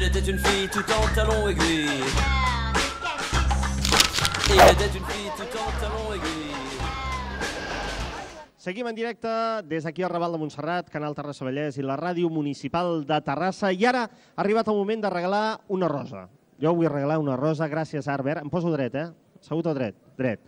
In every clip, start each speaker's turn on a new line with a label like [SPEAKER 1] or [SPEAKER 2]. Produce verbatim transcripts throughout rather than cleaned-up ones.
[SPEAKER 1] Il était une fille tout en talons aiguilles. Il était une fille tout en talons aiguilles.
[SPEAKER 2] Seguim en directe des d'aquí al Raval de Montserrat, Canal Terrassa Vallès i la Ràdio Municipal de Terrassa. I ara ha arribat el moment de regalar una rosa. Jo vull regalar una rosa, gràcies Arbert. Em poso dret, eh? Assegut o dret? Dret.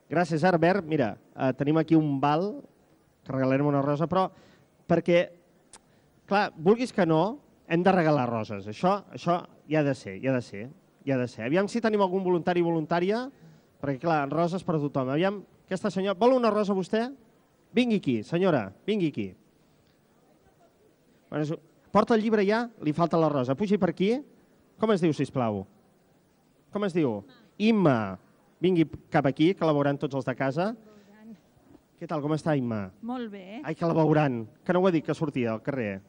[SPEAKER 2] Gràcies Arbert. Mira, eh, tenim aquí un val que regalarem una rosa, però perquè, clar, vulguis que no, hem de regalar roses. Això, això hi ha de ser, hi ha de ser, hi ha de ser. Aviam si tenim algun voluntari o voluntària, perquè, clar, roses per a tothom. Aviam, aquesta senyora... Vol una rosa vostè? Vingui aquí, senyora, vingui aquí. Bueno, porta el llibre ja, li falta la rosa. Pugi per aquí. Com es diu, sisplau? Com es diu? Imma. Vingui cap aquí, que la veuran tots els de casa. Què tal, com està, Imma?
[SPEAKER 3] Molt bé.
[SPEAKER 2] Ai, que la veuran. Que no ho he dit, que sortia al carrer.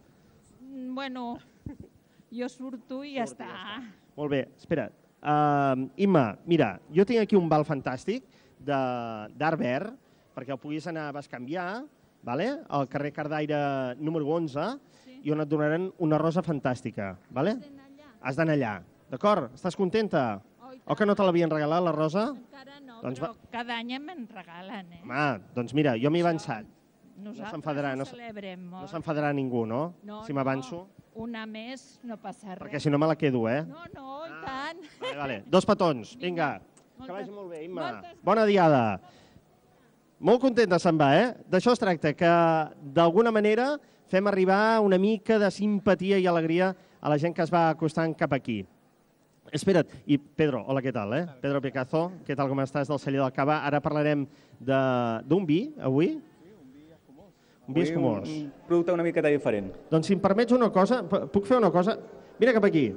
[SPEAKER 3] Bueno, jo surto i ja està.
[SPEAKER 2] Molt bé, espera. Uh, Imma, mira, jo tinc aquí un val fantàstic d'Arbert, perquè el puguis anar a bescanviar, vale? Al carrer Cardaire número onze, sí. I on et donaran una rosa fantàstica. Vale? Has d'anar allà. D'acord? Estàs contenta? Oh, o que no te l'havien regalat, la rosa?
[SPEAKER 3] Encara no,
[SPEAKER 2] doncs
[SPEAKER 3] però
[SPEAKER 2] va...
[SPEAKER 3] cada any me'n regalen, eh?
[SPEAKER 2] Home, doncs mira, jo m'he avançat.
[SPEAKER 3] Nosaltres
[SPEAKER 2] no
[SPEAKER 3] ho celebrem molt.
[SPEAKER 2] No s'enfadarà ningú, no?
[SPEAKER 3] No,
[SPEAKER 2] si m'avanço.
[SPEAKER 3] No, una més no passa res.
[SPEAKER 2] Perquè si no me la quedo, eh?
[SPEAKER 3] No, no, i tant.
[SPEAKER 2] Vale, vale. Dos petons, vinga. Que vagi molt bé, Imma. Bona diada. Molt contenta se'n va, eh? D'això es tracta, que d'alguna manera fem arribar una mica de simpatia i alegria a la gent que es va acostant cap aquí. Espera't, i Pedro, hola, què tal, eh? Pedro Picazo, què tal, com estàs, del celler del Cava? Ara parlarem d'un vi, avui?
[SPEAKER 4] Sí, un vi escumós.
[SPEAKER 2] Un vi escumós.
[SPEAKER 4] Un producte una miqueta diferent.
[SPEAKER 2] Doncs si em permets una cosa, puc fer una cosa? Vine cap aquí.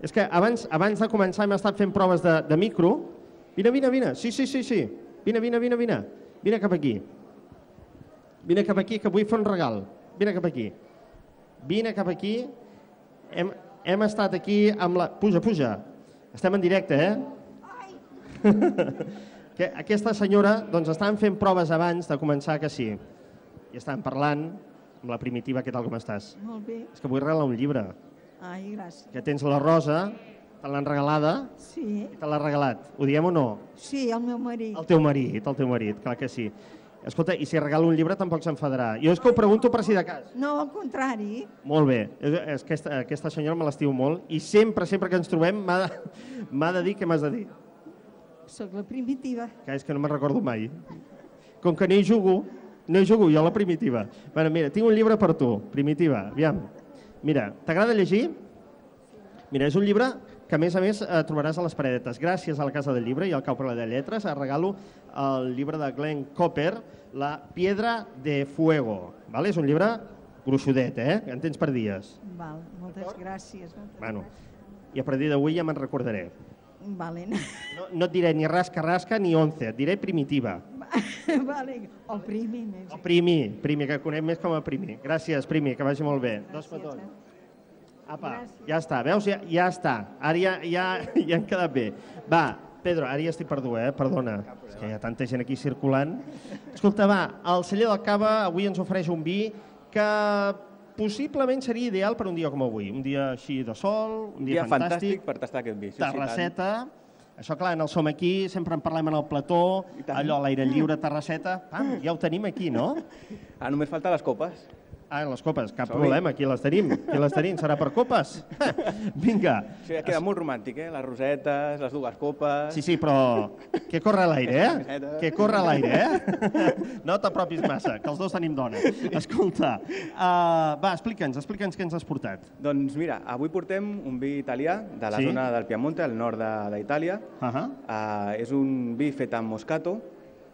[SPEAKER 2] És que abans, abans de començar hem estat fent proves de, de micro. Vine, vine, vine. Sí, sí, sí, sí. Vine, vine, vine, vine. Vine cap aquí. Vine cap aquí, que vull fer un regal. Vine cap aquí. Vine cap aquí. Hem, hem estat aquí amb la... Puja, puja. Estem en directe, eh? que aquesta senyora, doncs, estaven fent proves abans de començar, que sí. I estaven parlant amb la Primitiva. Què tal, com estàs?
[SPEAKER 5] Molt bé.
[SPEAKER 2] És que vull regalar un llibre.
[SPEAKER 5] Ai, gràcies.
[SPEAKER 2] Que tens la rosa, te l'han regalada.
[SPEAKER 5] Sí.
[SPEAKER 2] I te l'ha regalat. Ho diem o no?
[SPEAKER 5] Sí, el meu marit.
[SPEAKER 2] El teu marit, el teu marit, clar que sí. Escolta, i si regalo un llibre tampoc s'enfadarà. Jo és que ho pregunto per si de cas.
[SPEAKER 5] No, al contrari.
[SPEAKER 2] Molt bé. És que aquesta, aquesta senyora me l'estimo molt i sempre, sempre que ens trobem m'ha de, m'ha de dir què m'has de dir.
[SPEAKER 5] Soc la Primitiva.
[SPEAKER 2] Que és que no me'n recordo mai. Com que no hi jugo, no hi jugo jo, la Primitiva. Bueno, mira, tinc un llibre per tu, Primitiva. Aviam. Mira, t'agrada llegir? Mira, és un llibre que a més a més eh, trobaràs a les paredetes. Gràcies a la Casa del Llibre i al Cau per la de Lletres, et regalo el llibre de Glenn Cooper, La Piedra de Fuego. Vale? És un llibre gruixudet, eh? En tens per dies.
[SPEAKER 5] Val, moltes gràcies. Moltes
[SPEAKER 2] bueno,
[SPEAKER 5] gràcies.
[SPEAKER 2] I a partir d'avui ja me'n recordaré.
[SPEAKER 5] Vale.
[SPEAKER 2] No, no et diré ni rasca-rasca ni once, et diré Primitiva.
[SPEAKER 5] Vale, el primi més.
[SPEAKER 2] El primi, primi, que conec més com a primi. Gràcies, primi, que vagi molt bé. Dos petons. Apa, ja està, veus? Ja, ja està. Ara ja, ja, ja han quedat bé. Va, Pedro, ara ja estic perdut, eh? Perdona. És que hi ha tanta gent aquí circulant. Escolta, va, el celler del Cava avui ens ofereix un vi que possiblement seria ideal per un dia com avui. Un dia així de sol, un dia,
[SPEAKER 4] dia
[SPEAKER 2] fantàstic.
[SPEAKER 4] fantàstic per tastar aquest vi. Sí,
[SPEAKER 2] Terrasseta. Això, clar, en el Som Aquí, sempre en parlem en el plató, allò a l'aire lliure, Terrasseta. Pam, ja ho tenim aquí, no?
[SPEAKER 4] Ah, només falta les copes.
[SPEAKER 2] Ah, les copes, cap problema, aquí les tenim. Aquí les tenim, serà per copes? Vinga.
[SPEAKER 4] Sí, queda molt romàntic, eh? Les rosetes, les dues copes...
[SPEAKER 2] Sí, sí, però que corre a l'aire, eh? Que corre a l'aire, eh? No t'apropis massa, que els dos tenim dona. Escolta, uh, va, explica'ns, explica'ns què ens has portat.
[SPEAKER 4] Doncs mira, avui portem un vi italià de la
[SPEAKER 2] Sí?
[SPEAKER 4] zona del Piemonte, al nord de- d'Itàlia.
[SPEAKER 2] Uh -huh.
[SPEAKER 4] Uh, és un vi fet amb moscato,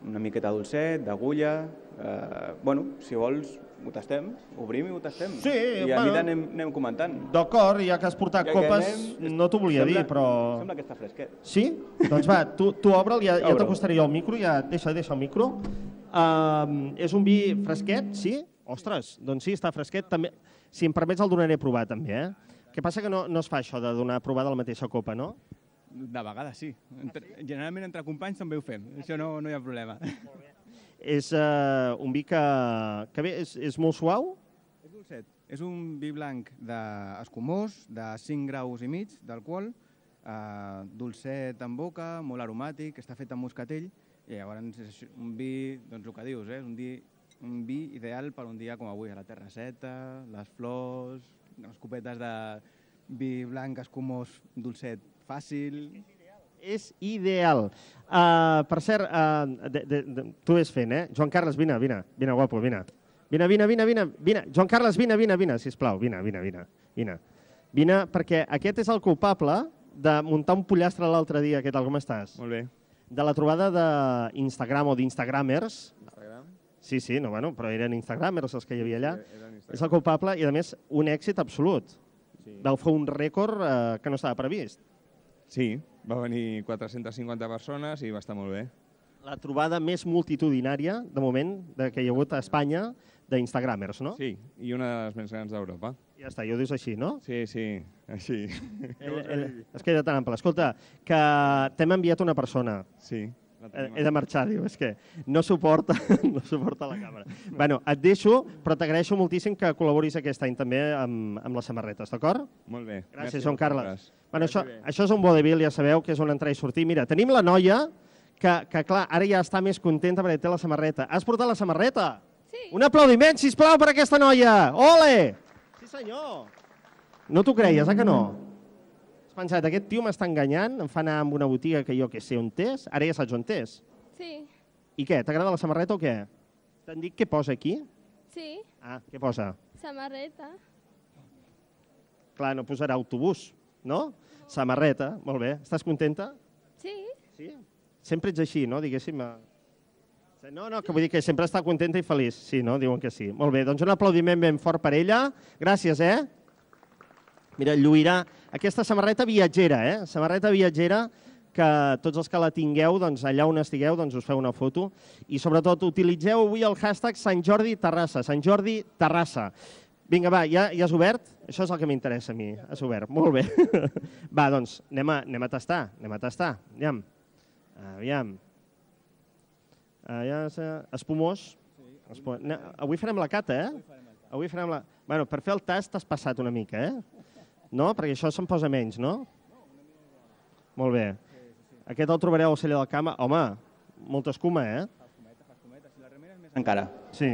[SPEAKER 4] una miqueta dolcet, d'agulla... Uh, bueno, si vols, ho tastem, obrim i ho tastem.
[SPEAKER 2] Sí,
[SPEAKER 4] I a
[SPEAKER 2] bueno.
[SPEAKER 4] mida anem, anem comentant.
[SPEAKER 2] D'acord, ja que has portat
[SPEAKER 4] Ja que
[SPEAKER 2] copes,
[SPEAKER 4] anem,
[SPEAKER 2] no t'ho volia
[SPEAKER 4] sembla-
[SPEAKER 2] dir, però...
[SPEAKER 4] Sembla que està fresquet.
[SPEAKER 2] Sí? Doncs va, tu, tu obre'l, ja, ja
[SPEAKER 4] Obre'l.
[SPEAKER 2] t'acostaré jo al micro, ja deixa, deixa el micro. Uh, és un vi fresquet, sí? Ostres, doncs sí, està fresquet. També, si em permets el donaré a provar també, eh? Què passa que no, no es fa això de donar a provar de la mateixa copa, no?
[SPEAKER 6] De vegades sí. Entre, generalment entre companys també ho fem. Això no, no hi ha problema.
[SPEAKER 2] És uh, un vi que, que bé, és, és molt suau?
[SPEAKER 6] És dolcet. És un vi blanc d'escumós, de cinc graus i mig d'alcohol, eh, dolcet en boca, molt aromàtic, està fet amb moscatell, i llavors és un vi, doncs el que dius, eh? és un, di, un vi ideal per un dia com avui, a la terrasseta, les flors, les copetes de vi blanc escumós, dolcet, fàcil.
[SPEAKER 2] És ideal. Uh, per cert, uh, de, de, de, tu ves fent, eh? Joan Carles, vine, vine, vine, guapo, vine. Vine, vine, vine, vine, vine. Joan Carles, vine, vine, vine, sisplau, vine, vine, vine, vine. Vine, perquè aquest és el culpable de muntar un pollastre l'altre dia. Què tal, com estàs?
[SPEAKER 7] Molt bé.
[SPEAKER 2] De la trobada d'Instagram o d'Instagramers.
[SPEAKER 7] Instagram?
[SPEAKER 2] Sí, sí, no, bueno, però eren Instagramers els que hi havia allà. És el culpable i, a més, un èxit absolut.
[SPEAKER 7] Sí.
[SPEAKER 2] Vau fer un rècord eh, que no estava previst.
[SPEAKER 7] Sí, va venir quatre-centes cinquanta persones i va estar molt bé.
[SPEAKER 2] La trobada més multitudinària, de moment, de que hi ha hagut a Espanya d'Instagramers, no?
[SPEAKER 7] Sí, i una de les més grans d'Europa.
[SPEAKER 2] Ja està, jo ho dius així, no?
[SPEAKER 7] Sí, sí, així.
[SPEAKER 2] El, el, es queda tan ample. Escolta, que t'hem enviat una persona.
[SPEAKER 7] Sí.
[SPEAKER 2] He, he de marxar, diu, és que no suporta, no suporta la càmera. Bueno, et deixo, però t'agraeixo moltíssim que col·laboris aquest any també amb, amb les samarretes, d'acord?
[SPEAKER 7] Molt bé.
[SPEAKER 2] Gràcies, Joan Carles. Bueno, això, això és un vodevil, ja sabeu que és un entrar i sortir. Mira, tenim la noia que, que, clar, ara ja està més contenta perquè té la samarreta. Has portat la samarreta?
[SPEAKER 3] Sí.
[SPEAKER 2] Un aplaudiment, sisplau, per aquesta noia! Ole! Sí, senyor! No t'ho creies, eh, que no? Has pensat, aquest tio m'està enganyant, em fa anar amb una botiga que jo que sé on és, ara ja saps on és.
[SPEAKER 3] Sí.
[SPEAKER 2] I què, t'agrada la samarreta o què? T'han dit què posa aquí?
[SPEAKER 3] Sí.
[SPEAKER 2] Ah, què posa?
[SPEAKER 3] Samarreta.
[SPEAKER 2] Clar, no posarà autobús, no? Samarreta, molt bé. Estàs contenta?
[SPEAKER 3] Sí.
[SPEAKER 2] Sí? Sempre ets així, no? Diguéssim. No, no, que vull dir que sempre està contenta i feliç. Sí, no? Diuen que sí. Molt bé, doncs un aplaudiment ben fort per ella. Gràcies, eh? Mira, lluirà aquesta samarreta viatgera, eh? Samarreta viatgera, que tots els que la tingueu, doncs allà on estigueu, doncs us feu una foto. I sobretot utilitzeu avui el hashtag Sant Jordi Terrassa. Sant Jordi Terrassa. Vinga, va, ja, ja has obert? Això és el que m'interessa a mi. Has obert, molt bé. Va, doncs, anem a, anem a tastar, anem a tastar. Aviam. Aviam. Aviam. Espumós. Espumós. No, avui farem la cata, eh? Avui farem la... Bueno, per fer el tast t'has passat una mica, eh? No? Perquè això se'n posa menys, no? Molt bé. Aquest el trobareu al celler del Camp. Home, molta escuma, eh?
[SPEAKER 4] Encara.
[SPEAKER 2] Sí.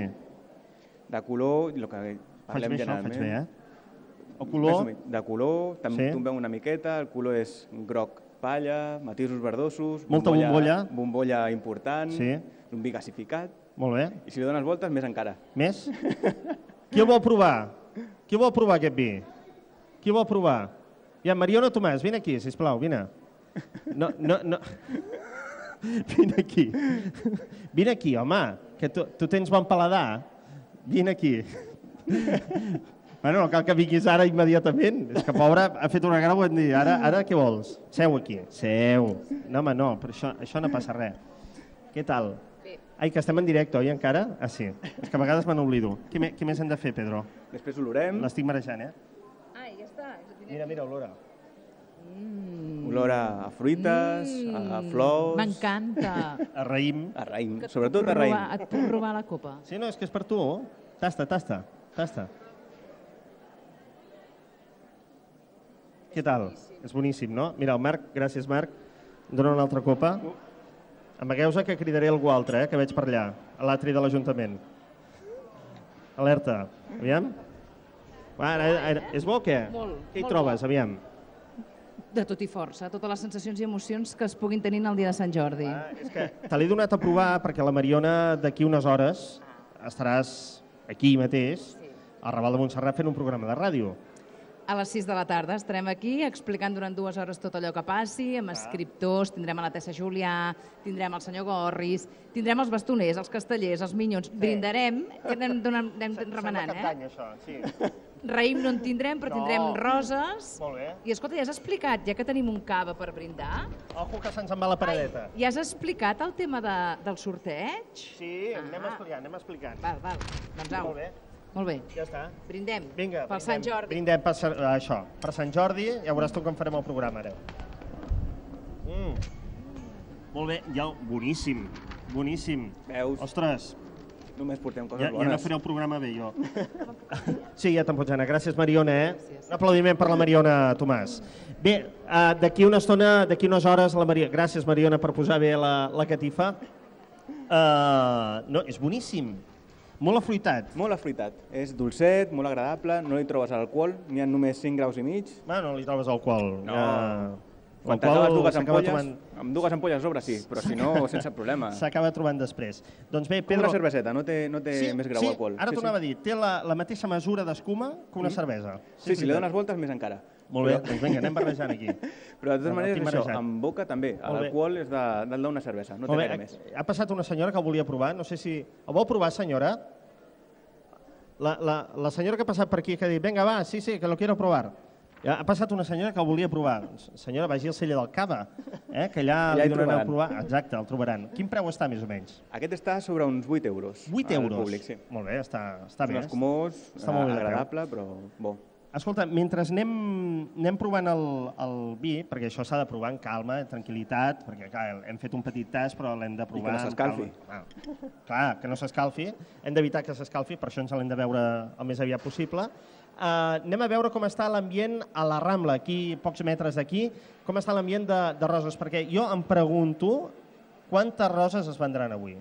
[SPEAKER 4] De color, el que
[SPEAKER 2] Faig
[SPEAKER 4] parlem
[SPEAKER 2] bé això,
[SPEAKER 4] generalment.
[SPEAKER 2] faig bé, eh? El color...
[SPEAKER 4] De color, també
[SPEAKER 2] Sí.
[SPEAKER 4] tombem una miqueta, el color és groc palla, matisos verdosos...
[SPEAKER 2] Molta bombolla.
[SPEAKER 4] Bombolla important,
[SPEAKER 2] Sí.
[SPEAKER 4] un vi gasificat,
[SPEAKER 2] Molt bé.
[SPEAKER 4] i si li dones voltes, més encara.
[SPEAKER 2] Més? Qui el vol provar? Qui vol provar aquest vi? Qui vol provar? Ja, Mariona Tomàs, vine aquí, sisplau, vine. No, no, no. Vine aquí. Vine aquí, home, que tu, tu tens bon paladar. Vine aquí. Bueno, no cal que vinguis ara immediatament. És que, pobre, ha fet una gran bon dia. Ara, ara què vols? Seu aquí. Seu. No, home, no, però això, això no passa res. Què tal?
[SPEAKER 3] Bé.
[SPEAKER 2] Ai, que estem en directe, oi, encara? Ah, sí. És que a vegades me n'oblido. Què, me, què més hem de fer, Pedro?
[SPEAKER 4] Després olorem,
[SPEAKER 2] L'estic marejant, eh?
[SPEAKER 3] Ah, ja està.
[SPEAKER 2] Mira, mira, olora.
[SPEAKER 4] olor a fruites, a flors,
[SPEAKER 8] M'encanta.
[SPEAKER 2] A raïm.
[SPEAKER 4] a raïm,
[SPEAKER 8] Que et
[SPEAKER 4] sobretot
[SPEAKER 8] puc
[SPEAKER 4] a raïm.
[SPEAKER 8] robar- Et puc robar la copa.
[SPEAKER 2] Sí, no, és que és per tu. Tasta, tasta, tasta. Què tal? És boníssim, no? Mira, el Marc, gràcies, Marc. Em dona una altra copa. Amagueu-se que cridaré algú altre, eh, que veig per allà, a l'atri de l'Ajuntament. Alerta. Aviam. Va, ara, ara, és bo o què?
[SPEAKER 8] Molt,
[SPEAKER 2] Què hi
[SPEAKER 8] molt
[SPEAKER 2] trobes,
[SPEAKER 8] bo.
[SPEAKER 2] aviam?
[SPEAKER 8] De tot i força, totes les sensacions i emocions que es puguin tenir el dia de Sant Jordi.
[SPEAKER 2] Ah, és que te l'he donat a provar perquè la Mariona d'aquí unes hores estaràs aquí mateix, al Raval de Montserrat, fent un programa de ràdio.
[SPEAKER 8] A les sis de la tarda estarem aquí explicant durant dues hores tot allò que passi, amb escriptors, tindrem a la Tessa Julià, tindrem el senyor Gorris, tindrem els bastoners, els castellers, els minyons, brindarem, que anem, donant, anem remenant, eh?
[SPEAKER 2] això, sí.
[SPEAKER 8] Raïm no en tindrem, però
[SPEAKER 2] No.
[SPEAKER 8] tindrem roses.
[SPEAKER 2] Molt bé.
[SPEAKER 8] I escolta, ja has explicat, ja que tenim un cava per brindar,
[SPEAKER 2] Ojo que se'ns en va la paradeta.
[SPEAKER 8] ja has explicat el tema de, del sorteig?
[SPEAKER 2] Sí, anem
[SPEAKER 8] Ah.
[SPEAKER 2] explicant, anem explicant.
[SPEAKER 8] Val, val, doncs au.
[SPEAKER 2] Molt bé,
[SPEAKER 8] Molt bé.
[SPEAKER 2] ja està.
[SPEAKER 8] Brindem
[SPEAKER 2] Vinga,
[SPEAKER 8] pel Sant Jordi.
[SPEAKER 2] Brindem per, Sant- això, per Sant Jordi, ja veuràs tu com farem el programa ara. Mm. Molt bé, ja, boníssim, boníssim.
[SPEAKER 4] Veus?
[SPEAKER 2] Ostres,
[SPEAKER 4] Només portem coses
[SPEAKER 2] Ja, ja no
[SPEAKER 4] bones.
[SPEAKER 2] faré el programa bé, jo. Sí, ja te'n pots anar. Gràcies, Mariona, eh? Un aplaudiment per la Mariona, Tomàs. Bé, uh, d'aquí una estona, d'aquí unes hores, la Mariona... Gràcies, Mariona, per posar bé la, la catifa. Uh, no, és boníssim. Molt afruitat.
[SPEAKER 4] Molt afruitat. És dolcet, molt agradable, no li trobes alcohol, n'hi ha només cinc graus i mig.
[SPEAKER 2] Ah, no li trobes alcohol.
[SPEAKER 4] No.
[SPEAKER 2] Ja...
[SPEAKER 4] Quan
[SPEAKER 2] L'alcohol
[SPEAKER 4] t'acabes dues
[SPEAKER 2] s'acaba
[SPEAKER 4] ampolles,
[SPEAKER 2] trobant-
[SPEAKER 4] amb dues ampolles a sobre sí, però si no, sense problema.
[SPEAKER 2] S'acaba trobant després. Doncs bé,
[SPEAKER 4] Com
[SPEAKER 2] Pedro...
[SPEAKER 4] una cerveseta, no té, no té
[SPEAKER 2] sí,
[SPEAKER 4] més grau
[SPEAKER 2] sí,
[SPEAKER 4] alcohol.
[SPEAKER 2] ara
[SPEAKER 4] sí,
[SPEAKER 2] tornava
[SPEAKER 4] sí.
[SPEAKER 2] a dir, té la, la mateixa mesura d'escuma que una
[SPEAKER 4] Mm.
[SPEAKER 2] cervesa.
[SPEAKER 4] Sí, si li
[SPEAKER 2] veritat.
[SPEAKER 4] dones voltes, més encara.
[SPEAKER 2] Molt bé,
[SPEAKER 4] Però-
[SPEAKER 2] doncs vinga, anem barrejant aquí.
[SPEAKER 4] Però de totes
[SPEAKER 2] No,
[SPEAKER 4] maneres,
[SPEAKER 2] estic
[SPEAKER 4] això,
[SPEAKER 2] marejat.
[SPEAKER 4] amb boca també.
[SPEAKER 2] Molt bé.
[SPEAKER 4] L'alcohol és de- del d'una cervesa, no té
[SPEAKER 2] Molt bé,
[SPEAKER 4] gaire més.
[SPEAKER 2] ha passat una senyora que el volia provar, no sé si... El vol provar, senyora? La, la, la senyora que ha passat per aquí que ha dit, vinga, va, sí, sí, que lo quiero provar. Ja ha passat una senyora que el volia provar. Senyora, vagi al celler del Cava, eh, que allà
[SPEAKER 4] Allà
[SPEAKER 2] li
[SPEAKER 4] hi
[SPEAKER 2] donaran a
[SPEAKER 4] trobaran.
[SPEAKER 2] provar. Exacte, el trobaran. Quin preu està, més o menys?
[SPEAKER 4] Aquest està sobre uns vuit euros.
[SPEAKER 2] vuit
[SPEAKER 4] al
[SPEAKER 2] euros?
[SPEAKER 4] Públic, sí.
[SPEAKER 2] Molt bé, està, està
[SPEAKER 4] És
[SPEAKER 2] bé.
[SPEAKER 4] un escumós,
[SPEAKER 2] Està molt bé de preu.
[SPEAKER 4] agradable, però bo.
[SPEAKER 2] Escolta, mentre anem, anem provant el, el vi, perquè això s'ha de provar en calma, en tranquil·litat, perquè clar, hem fet un petit tast, però l'hem de provar...
[SPEAKER 4] no
[SPEAKER 2] amb
[SPEAKER 4] s'escalfi.
[SPEAKER 2] calma. Ah, clar, que no s'escalfi. Hem d'evitar que s'escalfi, per això ens l'hem de veure el més aviat possible. Uh, anem a veure com està l'ambient a la Rambla, aquí, pocs metres d'aquí, com està l'ambient de, de roses, perquè jo em pregunto quantes roses es vendran avui.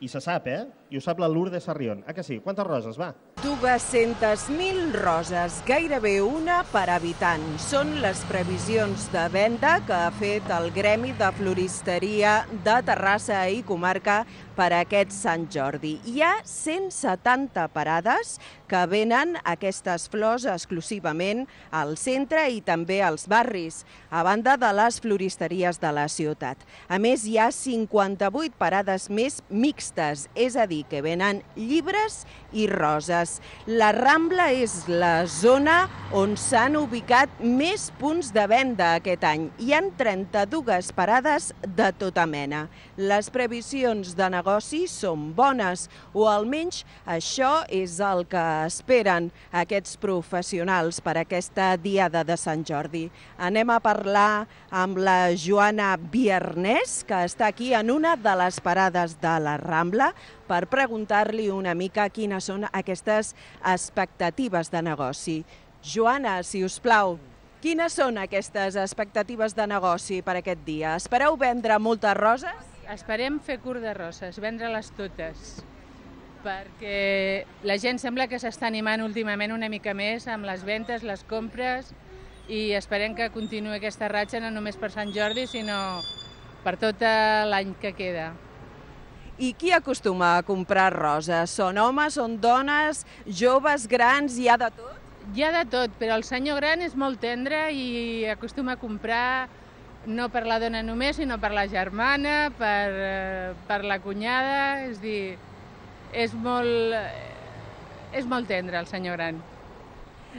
[SPEAKER 2] I se sap, eh? I ho sap la Lourdes Sarrión. Ah, que sí? Quantes roses, va?
[SPEAKER 9] dues-centes mil roses, gairebé una per habitant. Són les previsions de venda que ha fet el Gremi de Floristeria de Terrassa i Comarca per aquest Sant Jordi. Hi ha cent setanta parades que venen aquestes flors exclusivament al centre i també als barris, a banda de les floristeries de la ciutat. A més, hi ha cinquanta-vuit parades més mixtes, és a dir, que venen llibres i roses. La Rambla és la zona on s'han ubicat més punts de venda aquest any. Hi han trenta-dues parades de tota mena. Les previsions de negoci són bones, o almenys això és el que esperen aquests professionals per aquesta diada de Sant Jordi. Anem a parlar amb la Joana Biernès, que està aquí en una de les parades de la Rambla, per preguntar-li una mica quines són aquestes expectatives de negoci. Joana, si us plau, quines són aquestes expectatives de negoci per aquest dia? Espereu vendre moltes roses?
[SPEAKER 10] Esperem fer curt de roses, vendre-les totes, perquè la gent sembla que s'està animant últimament una mica més amb les ventes, les compres, i esperem que continuï aquesta ratxa no només per Sant Jordi, sinó per tot l'any que queda.
[SPEAKER 9] I qui acostuma a comprar roses? Són homes, són dones, joves, grans, hi ha de tot?
[SPEAKER 10] Hi ha de tot, però el senyor gran és molt tendre i acostuma a comprar no per la dona només, sinó per la germana, per, eh, per la cunyada, és dir, és molt, és molt tendre el senyor gran.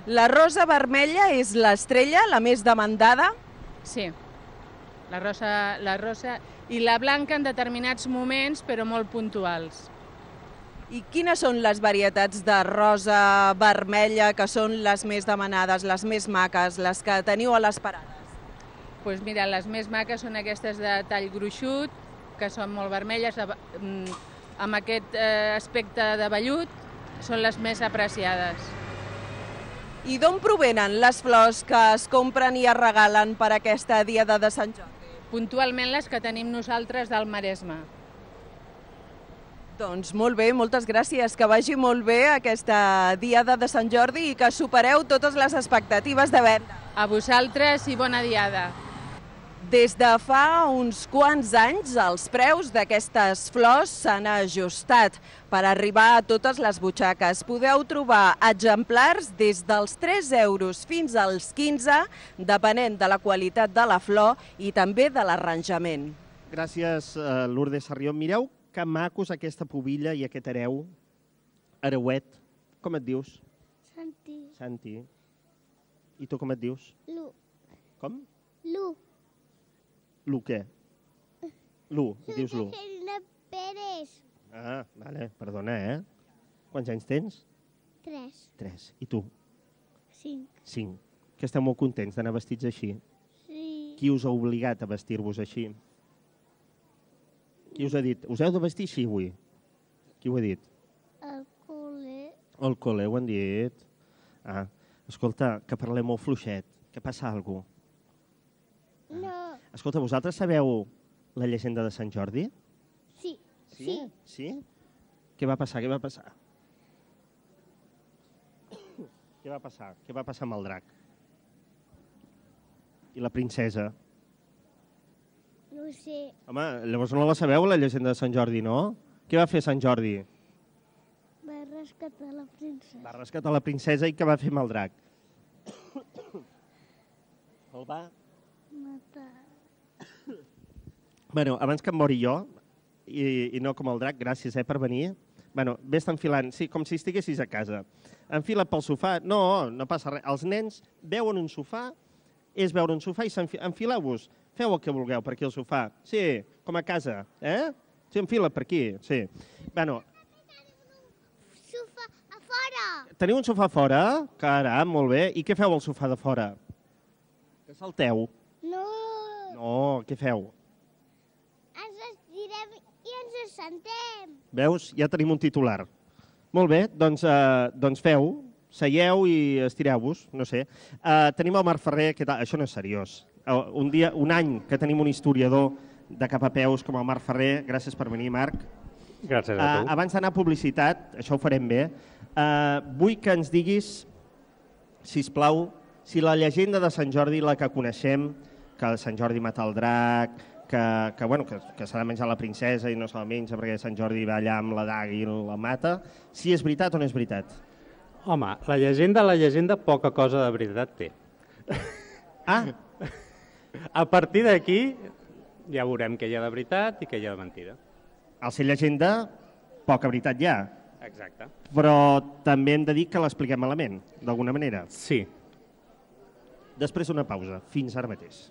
[SPEAKER 9] La rosa vermella és l'estrella, la més demandada?
[SPEAKER 10] Sí, la rosa, la rosa i la blanca en determinats moments, però molt puntuals.
[SPEAKER 9] I quines són les varietats de rosa vermella que són les més demanades, les més maques, les que teniu a les parades?
[SPEAKER 10] Doncs pues mira, les més maques són aquestes de tall gruixut, que són molt vermelles, amb aquest aspecte de vellut, són les més apreciades.
[SPEAKER 9] I d'on provenen les flors que es compren i es regalen per aquesta diada de Sant Jordi?
[SPEAKER 10] Puntualment les que tenim nosaltres del Maresme.
[SPEAKER 9] Doncs molt bé, moltes gràcies, que vagi molt bé aquesta diada de Sant Jordi i que supereu totes les expectatives de venda.
[SPEAKER 10] A vosaltres i bona diada.
[SPEAKER 9] Des de fa uns quants anys, els preus d'aquestes flors s'han ajustat per arribar a totes les butxaques. Podeu trobar exemplars des dels tres euros fins als quinze, depenent de la qualitat de la flor i també de l'arranjament.
[SPEAKER 2] Gràcies, uh, Lourdes Sarrión. Mireu que macos aquesta pubilla i aquest hereu. Hereuet. Com et dius?
[SPEAKER 11] Santi.
[SPEAKER 2] Santi. I tu com et dius?
[SPEAKER 11] Lu.
[SPEAKER 2] Com?
[SPEAKER 11] Lu.
[SPEAKER 2] Lu què? Lu, et dius Lu.
[SPEAKER 11] Serena Pérez.
[SPEAKER 2] Ah, vale, perdona, eh? Quants anys tens?
[SPEAKER 11] Tres.
[SPEAKER 2] Tres. I tu?
[SPEAKER 11] Cinc.
[SPEAKER 2] Cinc. Que esteu molt contents d'anar vestits així?
[SPEAKER 11] Sí.
[SPEAKER 2] Qui us ha obligat a vestir-vos així? Qui us ha dit? Us heu de vestir així avui? Qui ho ha dit? Al col·le ho han dit. Ah, escolta, que parlem molt fluixet. Que passa alguna cosa?
[SPEAKER 11] No.
[SPEAKER 2] Escolta, vosaltres sabeu la llegenda de Sant Jordi?
[SPEAKER 11] Sí.
[SPEAKER 2] Sí? Sí? Què va passar? Què va passar? Què va passar? Què va passar amb el drac? I la princesa?
[SPEAKER 11] No ho sé.
[SPEAKER 2] Home, llavors no la sabeu, la llegenda de Sant Jordi, no? Què va fer Sant Jordi?
[SPEAKER 11] Va rescatar la princesa.
[SPEAKER 2] Va rescatar la princesa i què va fer amb el drac? El va...
[SPEAKER 11] Matar.
[SPEAKER 2] Bueno, abans que em mori jo, i, i no com el drac, gràcies eh, per venir. Bueno, vés enfilant, sí, com si estiguessis a casa. Enfila't pel sofà. No, no passa res. Els nens veuen un sofà, és veure un sofà i enfileu-vos. Feu el que vulgueu per aquí al sofà. Sí, com a casa, eh? Sí, enfila't per aquí, sí. Bueno,
[SPEAKER 11] Sofà a fora.
[SPEAKER 2] teniu un sofà fora? Caram, molt bé. I què feu al sofà de fora? Que salteu?
[SPEAKER 11] No.
[SPEAKER 2] No, què feu?
[SPEAKER 11] Ens estirem i ens assentem.
[SPEAKER 2] Veus? Ja tenim un titular. Molt bé, doncs, eh, doncs feu, seieu i estireu-vos, no sé. Eh, tenim el Marc Ferrer, que tal? Això no és seriós. Uh, un, dia, un any que tenim un historiador de cap a peus com el Marc Ferrer. Gràcies per venir, Marc.
[SPEAKER 12] Gràcies a tu.
[SPEAKER 2] Uh, abans d'anar a publicitat, això ho farem bé, uh, vull que ens diguis, sisplau, si la llegenda de Sant Jordi, la que coneixem, que Sant Jordi mata el drac, que, que, bueno, que, que s'ha de menjar la princesa i no se la menja perquè Sant Jordi va allà amb la daga i la mata, si és veritat o no és veritat?
[SPEAKER 12] Home, la llegenda, la llegenda, poca cosa de veritat té.
[SPEAKER 2] Ah!
[SPEAKER 12] A partir d'aquí ja veurem què hi ha de veritat i què hi ha de mentida.
[SPEAKER 2] Al ser llegenda, poca veritat hi ha.
[SPEAKER 12] Exacte.
[SPEAKER 2] Però també hem de dir que l'expliquem malament, d'alguna manera.
[SPEAKER 12] Sí.
[SPEAKER 2] Després d'una pausa. Fins ara mateix.